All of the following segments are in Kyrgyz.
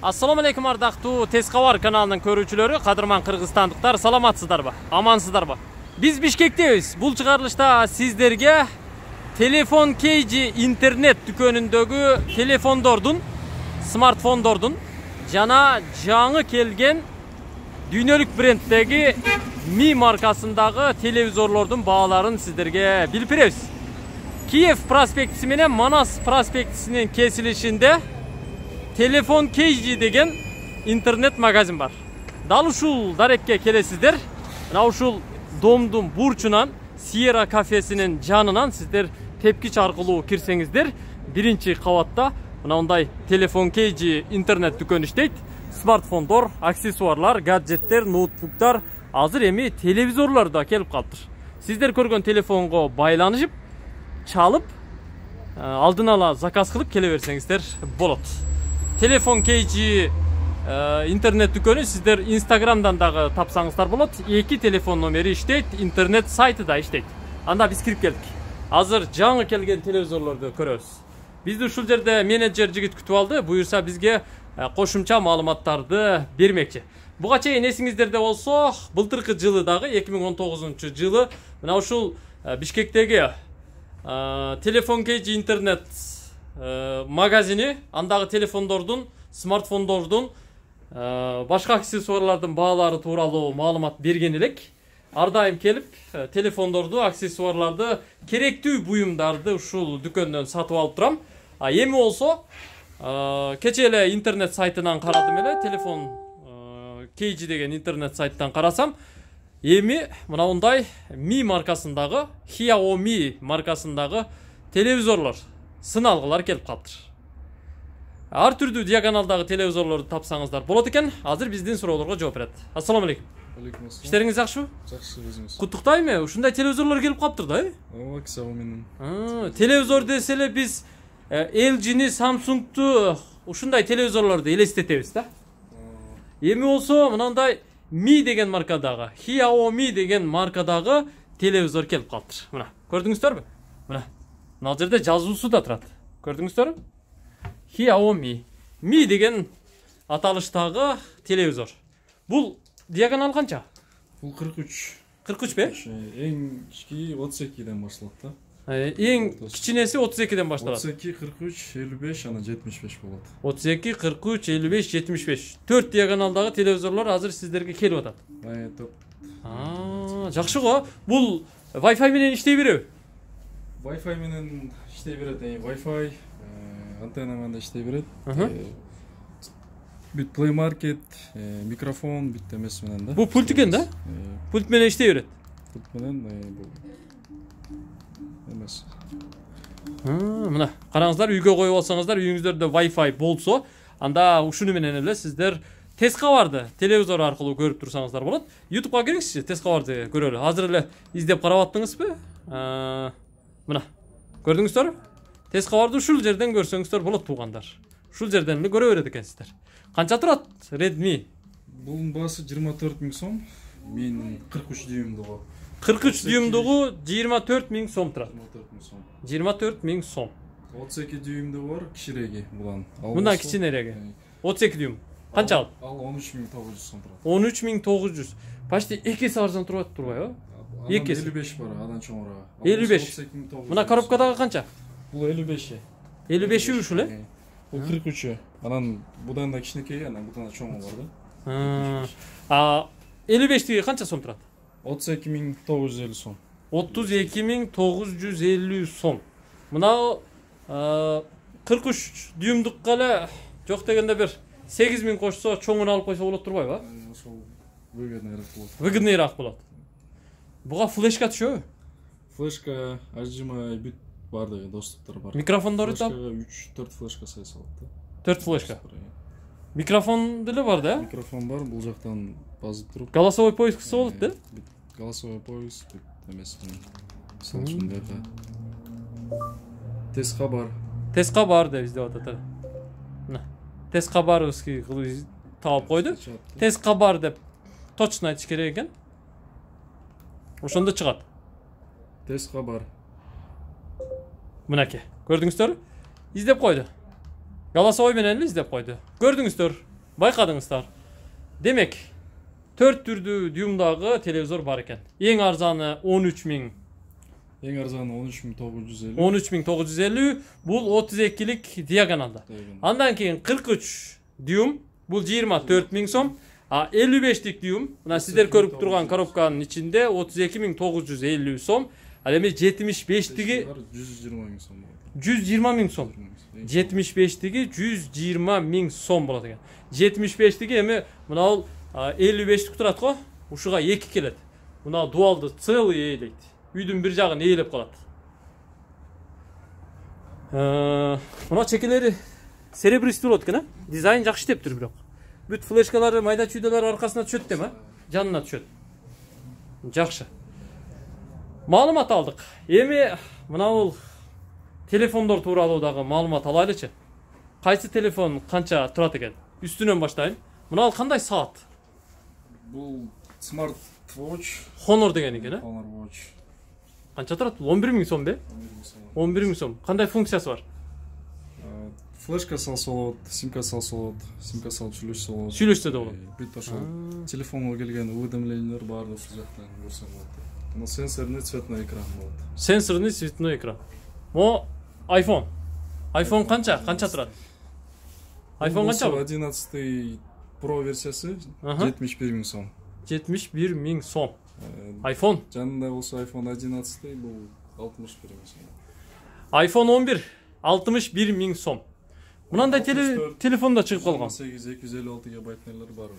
Assalamu alaikum ардактуу Тез кабар каналынын көрүүчүлөрү, кадырман кыргызстандыктар, саламатсыздарбы? Амансыздарбы? Биз Бишкектебиз. Бул чыгарылышта сиздерге телефон KG интернет дүкөнүндөгү телефондордун, смартфондордун жана жаңы келген дүйнөлүк бренддеги Mi маркасындагы телевизорлордун бааларын сиздерге билип беребиз. Киев проспектиси менен Манас проспектисинин кесилишинде Телефон KG деген интернет магазин бар. Дал ушул дарекке келесиздер. Мына ушул домдун бурчунан Sierra кафесинин жанынан сиздер тепкич аркылуу кирсеңиздер, биринчи кабатта мындай Телефон KG интернет дүкөнү иштейт. Смартфондор, аксессуарлар, гаджеттер, ноутбуктар, азыр эми телевизорлор да келип калыптыр. Сиздер көргөн телефонго байланышып, чалып, алдын ала заказ кылып келе берсеңиздер болот. Телефон KG интернет дүкөнү сиздер Instagramдан дагы тапсаңыздар болот. 2 телефон номери иштейт, интернет сайты да иштейт. Анда биз кирип келдик. Азыр жаңы келген телевизорлорду көрөбүз. Бизди ушул жерде менеджер жигит күтүп алды. Буюрса бизге кошумча маалыматтарды бермекчи. Буга чейин эсиңиздерде болсо, былтыркы жылы дагы 2019-жылы мына ушул Бишкектеги Телефон KG интернет магазини, андагы телефондордун, смартфондордун, башка аксессуарлардын баалары тууралуу маалымат берген элек. Ар дайым келип, телефондорду, аксессуарларды, керектүү буюмдарды ушул дүкөндөн сатып алып турам. Эми болсо, кече эле интернет сайтынан карадым эле, телефон KG деген интернет сайттан карасам, эми мындай Mi маркасындагы, Xiaomi маркасындагы телевизорлор, сыналгылар келип калыптыр. Ар түрдүү диагоналдагы телевизорлорду тапсаңыздар болот экен. Азыр биздин суроолорго жооп берет. Ассаламу алейкум. Алейкум ассалам. Иштериңиз жакшыбы? Жакшы, өзүңүз. Куттуктайм, ушундай телевизорлор келип калыптыр да, Ооба, Xiaomi'нин. Телевизор десе эле биз LG'ни, Samsung'ту ушундай телевизорлорду элестетебиз да. Эми болсо мындай Mi деген маркадагы, Xiaomi деген маркадагы телевизор келип калыптыр. Мына, көрдүңүздөрбү? Мына. Мына жерде жазуусу да турат. Көрдүңүздөрбү? Xiaomi. Mi деген аталыштагы телевизор. Бул диагонал канча? Бул 43. 43 бе? Эң кички 32ден башталат да. Эң кичинеси 32ден башталат. 32, 43, 55, ана 75 болот. 32, 43, 55, 75. 4 диагоналдагы телевизорлор азыр сиздерге келип атат. Топ. Жакшы го. Бул Wi-Fi менен иштей береби? Wi-Fi менен иштей берет. Wi-Fi антенна менен иштей берет. Бүт Play Market, микрофон, бүт эмес менен да. Бул пульт экен да? Пульт менен иштей берет. Пульт менен бул эмес. Мына, караңыздар, үйгө коюп алсаңыздар, үйүңүздөрдө Wi-Fi болсо, анда ушуну менен эле сиздер Тез кабарды телевизор аркылуу көрүп турсаңыздар болот. YouTubeга киргизчи, Тез кабарды көрөлү. Азыр эле издеп карап аттыңызбы? Мына, көрдүңүздөрбү? Тез кабарды ушул жерден көрсөңүздөр болот, туугандар. Ушул жерден эле көрө берет экенсиздер. Канча турат Redmi? Бунун баасы 24 000 сом. Мен 43 дюймдугу. 43 дюймдугу 24 000 сом турат. 24 000 сом. 24 000 сом. 32 дюймдугу бар, кичиреги булан. Мындан кичинереги. 32 дюйм. Канча ал? Ал 13 900 сом турат. 13 900. Почти 2 эсе арзан турат турбайбы? 2 эсе. 55 бар, адан чоңураак. 55. Мына коробкадагы канча? Бул 55. 55 ушул э? Бул 43. Анан будан да кичинекей, анан будан да чоңу бар да. 55тиги канча сом турат? 32 950 сом. 32 950 сом. Мына 43 дюймдукка эле жок дегенде бир 8000 кошсо, чоңун алып койсо болот турбайбы? Ошол выгодныйраак болот. Выгодныйраак болот. Буга флешка түшөбү? Флешка, HDMI бүт бар деген доступтар бар. Микрофондору да? 3-4 флешка сай салат да. 4 флешка. Микрофон деле бар да? Микрофон бар, бул жактан базып туруп. Голосовой поиск кылса болот да? Голосовой поиск эмес менен. Мисалы үчүн бияка Тез кабар. Тез кабар деп издеп атат. Мына. Тез кабарский таап койду. Тез кабар деп точно айтыш керек экен. Ошондо чыгат. Тез кабар. Мынакей. Көрдүңүздөр? Издеп койду. Голосовой менен эле издеп койду. Көрдүңүздөр? Байкадыңыздар. Демек, 4 түрдүү дюймдагы телевизор бар экен. Эң арзаны 13.000. Эң арзаны 13.950. 13.950 бул 32лик диагоналда. Андан кийин 43 дюйм бул 24.000 сом. А 55лик дюйм, мына сиздер көрүп турган коробканын ичинде 32.950 сом. Ал эми 75лиги 120.000 сом. 120.000 сом. 75лиги 120.000 сом болот экен. 75лиги эми мына 55лик турат го, ушуга 2 келет. Мына дуалды целый ээлейт. Үйдүн бир жагын ээлеп калат. Мына чекелери серебристый болот экен, дизайн жакшы иштептир бирок. Бүт флешкалары, майда чүйдөлөр аркасына түшөт дем, жанына түшөт. Жакшы. Маалымат алдык. Эми мына бул телефондор тууралуу дагы маалымат алайлычы. Кайсы телефон канча турат экен? Үстүнөн баштайын. Мына кандай саат? Бул Smart Watch. Honor деген экен, Honor Watch. Канча турат? 11.000 сом бе? 11.000 сом. Кандай функциясы бар? Флешка салса болот, симка салса болот, симка салып сүйлөшсө болот. Сүйлөшсө да болот. Бүт ошол телефонго келген уведомлениялар баары ушул жактан көрсөң болот. Мына сенсорный цветной экран болот. Сенсорный цветной экран. Мо iPhone. iPhone канча? Канча турат? iPhone канча? 11 Pro версиясы 71.000 сом. 71.000 сом. iPhone. Жанында болсо iPhone 11 бул 61.000 сом. iPhone 11 61.000 сом. Мынандай телефонда чыгып калган. 256 гигабайттарлар бар.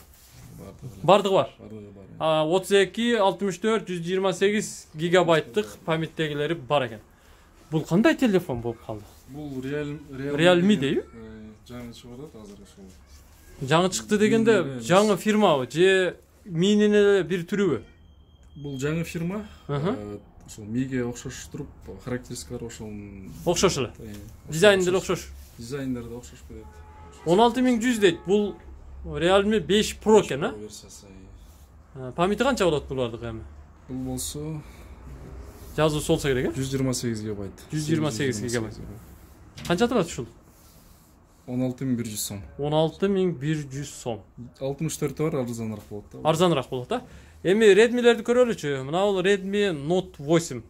Бардыгы бар. Бардыгы бар. 32, 64, 128 гигабайттык памяттегилери бар экен. Бул кандай телефон болуп калды? Бул Realme дейби? Жаңы чыгып атат азыр ошол. Жаңы чыкты дегенде жаңы фирмабы же Mi'нин эле бир түрүбү? Бул жаңы фирма. Ошол Mi'ге окшош туруп, характеристикалары ошол. Окшош эле. Дизайны деле окшош. Дизайндары да окшош берет. 16100 дейт. Бул Realme 5 Pro экен, а? Памяти канча болот булардыкы эми? Бул болсо жазуусу болсо керек, 128 гигабайт. 128 гигабайт. Канча турат ушул? 16100 сом. 16100 сом. 64 бар, арзаныраак болот да. Арзаныраак болот да. Эми Redmi'лерди көрөлүчү. Мына бул Redmi Note 8.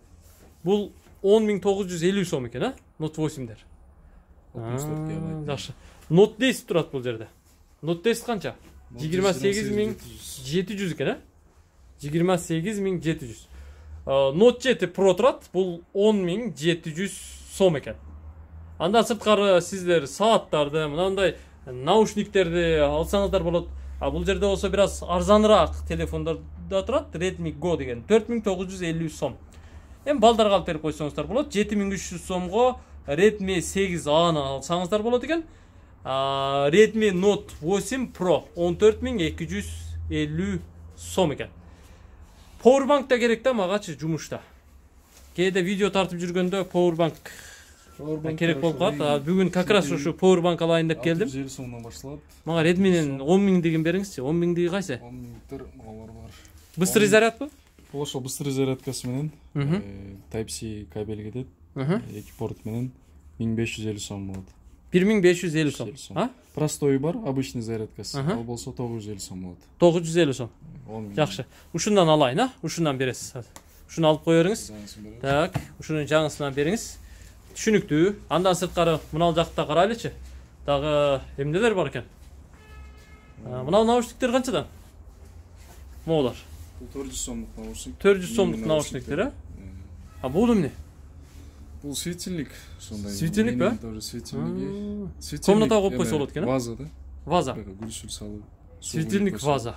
Бул 10950 сом экен, а? Note 8дер. 64 гигабайт. Жакшы. Note 10 турат бул жерде. Note 10 канча? 28700 экен, а? 28700. Note 7 Pro турат. Бул 10700 сом экен. Андан сырткары сиздер сааттарды, мындай наушниктерди алсаңыздар болот. Бул жерде болсо бир аз арзаныраак телефондордо турат. Redmi Go деген 4950 сом. Эми балдарга алып берип койсоңуздар болот. 7300 сомго Redmi 8A'ны алсаңыздар болот экен. Redmi Note 8 Pro 14250 сом экен. Powerbank да керек да магачы жумушта. Кээде видео тартып жүргөндө powerbank керек болуп калат. Бүгүн как раз ушу powerbank алайын деп келдим. 650 сомдон башталат. Мага Redmi'нин 10000 деген бериңизчи. 10000 кайсы? 10000 алар бар. Быстрый зарядбы? Бул ошол быстрый зарядкасы менен Type-C кабел кетет. Эки порт менен 1550 сом болот. 1550 сом. Простой бар, обычный зарядкасы. Ал болсо 950 сом болот. 950 сом. Жакшы. Ушундан алайын, а? Ушундан бересиз. Ушуну алып коерыңыз. Так, ушунун жаңысынан бериңиз. Түшүнүктүү. Андан сырткары мына жакта карайлычы. Дагы эмнелер бар экен? Мына наушниктер канчадан? Могулар. Бул 400 сомдук наушник. 400 сомдук наушниктер, а? Бул эмне? Бул светильник, ошондой. Светильник ба? Тоже светильники. Комнатага коюп койсо болот экен, а? Ваза да. Ваза. Гүлсүл салып. Светильник ваза.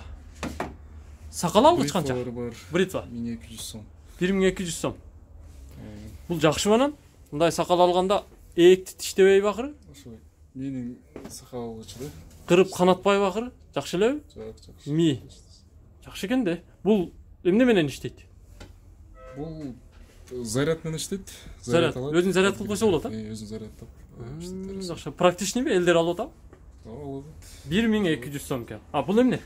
Сакал алгыч канча? Бритва. 1200 сом. 1200 сом. Бул жакшы анан. Мындай сакал алганда ээкти тиштебейби акыры? Ошой. Менин сакал алгычы да. Кырып канатпайбы акыры? Жакшы элеби? Жакшы. Ми. Жакшы экен да. Бул эмне менен иштейт? Бул заряд менен иштейт. Заряд. Өзүн заряд кылып койсо болот, а? Өзүн зарядтап. Жакшы. Практичныйбы? Элдер алып атабы? Алып. 1200 сом экен. Бул эмне?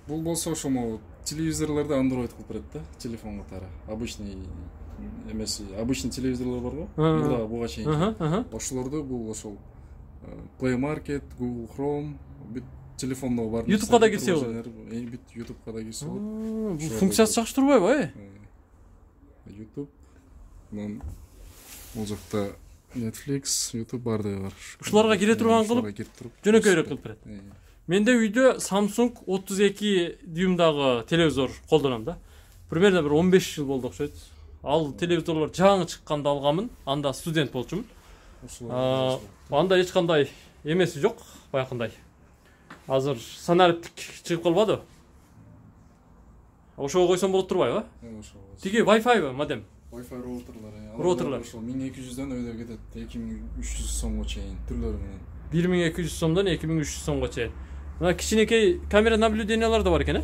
Бул болсо ошо телевизорлорду Android кылып берет да, телефон катары. Обычный эмеси, обычный телевизорлор барго. Буга буга чейин. Ошолорду бул ошол Play Market, Google Chrome, бүт телефондо бар. YouTube'га да кирсе болот. Бүт YouTube'га да кирсе болот. Бул функциясы жакшы турбайбы? YouTube бул жакта Netflix, YouTube бардыгы бар. Ушуларга кире турган кылып, жөнөкөйрөөк кылып берет. Менде үйдө Samsung 32 дюймдагы телевизор колдоном да. Примерно бир 15 жыл болду окшойт. Ал телевизорлор жаңы чыкканда алганмын. Анда студент болчумун. Анда эч кандай эмеси жок, баягындай. Азыр санариптик чыгып калбады. Ошого койсом болот турбайбы? Тиги Wi-Fi модем. Wi-Fi роутерлар. Роутерлар. Ошол 1200дөн өйдө кетет. 2300 сомго чейин түрлөрү менен. 1200 сомдон 2300 сомго чейин. Мына кичинекей камера наблюдениялар да бар экен,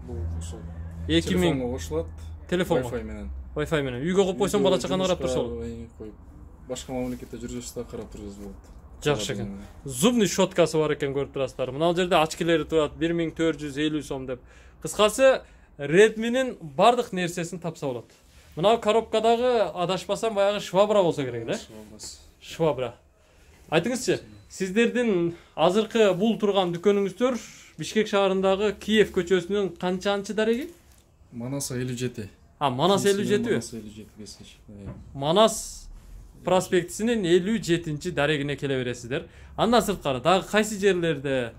Бул ошол 2000 телефонго кошулат. Телефонго. Wi-Fi менен. Wi-Fi менен. Үйгө коюп койсоң бала чаканы карап турса болот. Башка мамлекетте жүрсөң да карап турсаңыз болот. Жакшы экен. Зубный щеткасы бар экен, көрүп турасыздар. Мына жерде очкилери турат 1450 сом деп. Кыскасы Redmi'nin бардык нерсесин тапса болот. Мына коробкадагы адашпасам баягы швабра болсо керек эле. Швабра. Айтыңызчы, сиздердин азыркы бул турган дүкөнүңүздөр Бишкек шаарындагы Киев көчөсүнүн канчанчы дареги? Манас 57. Манас 57 бе? Манас 57. Манас проспектисинин 57-чи дарегине келе бересиздер. Андан сырткары дагы кайсы жерлерде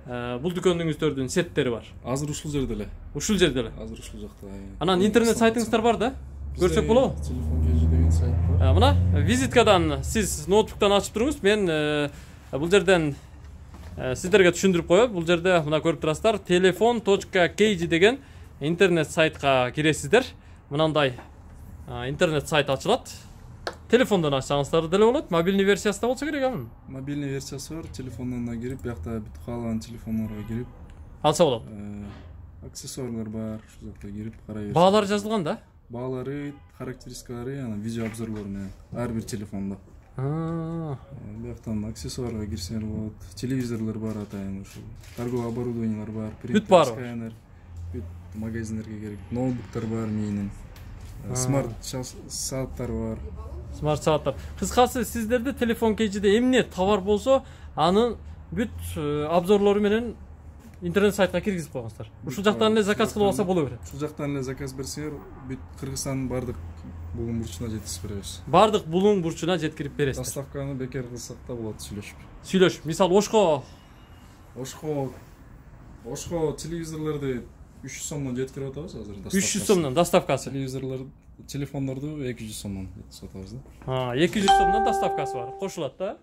бул дүкөнүңүздөрдүн сеттери бар? Азыр ушул жерде эле. Ушул жерде эле. Азыр ушул жакта. Анан интернет сайтыңыздар бар да? Көрсөк болобу? Телефон кежи деген сайт бар. Мына визиткадан сиз ноутбуктан ачып туруңуз. Мен бул жерден сиздерге түшүндүрүп коём. Бул жерде мына көрүп турасыздар, telefon.kg деген интернет сайтка киресиздер. Мынандай интернет сайт ачылат. Телефондон ачсаңыздар деле болот. Мобильный версиясы да болсо керек анын. Мобильный версиясы бар. Телефондон да кирип, биякта бүт каалаган телефондорго кирип алса болот. Аксессуарлар бар, ушул жакта кирип карай берсиңиз. Баалары жазылган да? Баалары, характеристикалары, анан видео обзорлору менен ар бир телефондо. Бияктан аксессуарга кирсеңер болот. Телевизорлор бар атайын ушул. Торговый оборудованиялар бар. Бүт бар. Бүт магазиндерге керек. Ноутбуктар бар менин. Смарт сааттар бар. Смарт сааттар. Кыскасы сиздерде телефон кежиде эмне товар болсо, анын бүт обзорлору менен интернет сайтка киргизип койгонсуздар. Ушул жактан эле заказ кылып алса боло берет. Ушул жактан эле заказ берсеңер, бүт Кыргызстандын бардык булуң бурчуна жеткизип беребиз. Бардык булуң бурчуна жеткирип бересиздер. Доставканы бекер кылсак да болот сүйлөшүп. Сүйлөшүп. Мисалы Ошко телевизорлорду 300 сомдон жеткирип атабыз азыр доставкасы. 300 сомдон доставкасы. Телефондорду 200 сомдон сатабыз да. 200 сомдон доставкасы бар. Кошулат да.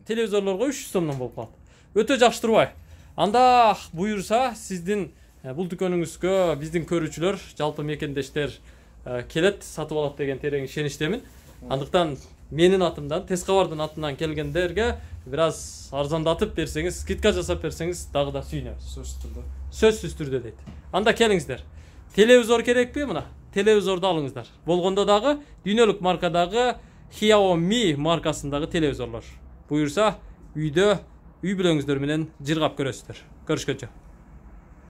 Телевизорлорго 300 сомдон болуп калат. Өтө жакшы турбай? Анда буюрса сиздин бул дүкөнүңүзгө биздин көрүүчүлөр, жалпы мекендештер келет, сатып алат деген терең ишеничтемин. Андыктан менин атымдан, Тез кабардын атынан келгендерге бир аз арзандатып берсеңиз, скидка жасап берсеңиз дагы да сүйүнөбүз. Сөзсүз түрдө дейт. Анда келиңиздер. Телевизор керекпи мына? Телевизорду алыңыздар. Болгондо дагы дүйнөлүк маркадагы Xiaomi маркасындагы телевизорлор. Буюрса үйдө үй бүлөңүздөр менен жыргап көрөсүздөр. Көрүшкөнчө.